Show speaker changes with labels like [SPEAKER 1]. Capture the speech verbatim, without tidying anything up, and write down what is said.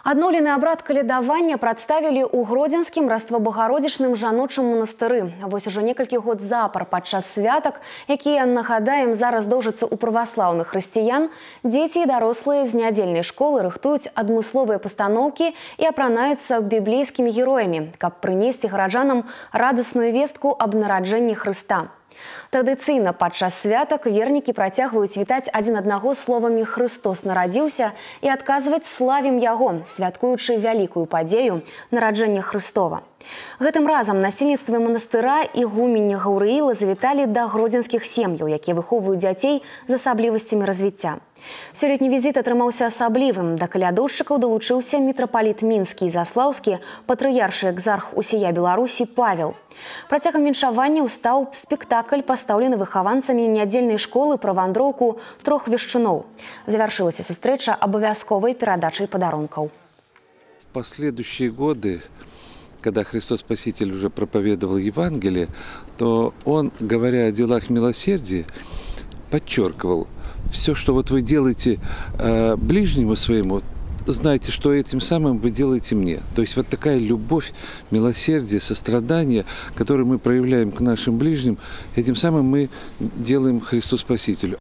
[SPEAKER 1] Адноўлены абрад калядавання прадставілі ў гродзенскім раствабагародзічным жаночым манастыры. Вось ужо некалькі год запар падчас святак, якія, нагадаем, зараз доўжацца ў праваслаўных хрысціян, дзеці і дарослыя з нядзельнай школы рыхтуюць адмысловыя пастаноўкі і апранаюцца біблейскімі героямі, каб прынесці гараджанам радасную вестку аб нараджэнні Хрыста. Традыцыйна падчас святак вернікі працягваюць вітаць адзін аднаго словамі «Хрыстос нарадзіўся» і адказваць «Славім Яго», святкуючы вялікую падзею нараджэння Хрыстова. Гэтым разам насельніцтва манастыра ігуменні Гаўрыіла завіталі да гродзенскіх сем'яў, якія выхоўваюць дзяцей з асаблівасцямі развіцця. Сёлетні візіт атрымаўся асаблівым. Да калядоўшчыкаў далучыўся мітрапаліт мінскі і заслаўскі, патрыяршы экзарх усія Беларусі Павел. Працягам віншавання ўстаў спектакль, пастаўлены выхаванцамі нядзельнай школы пра вандроўку трох вешчуноў. Завяршылася сустрэча абавязковай перадачай падарункаў.
[SPEAKER 2] В последующие годы, когда Христос Спаситель уже проповедовал Евангелие, то Он, говоря о делах милосердия, подчеркивал: все, что вот вы делаете э, ближнему своему, знайте, что этим самым вы делаете мне. То есть вот такая любовь, милосердие, сострадание, которое мы проявляем к нашим ближним, этим самым мы делаем Христу Спасителю.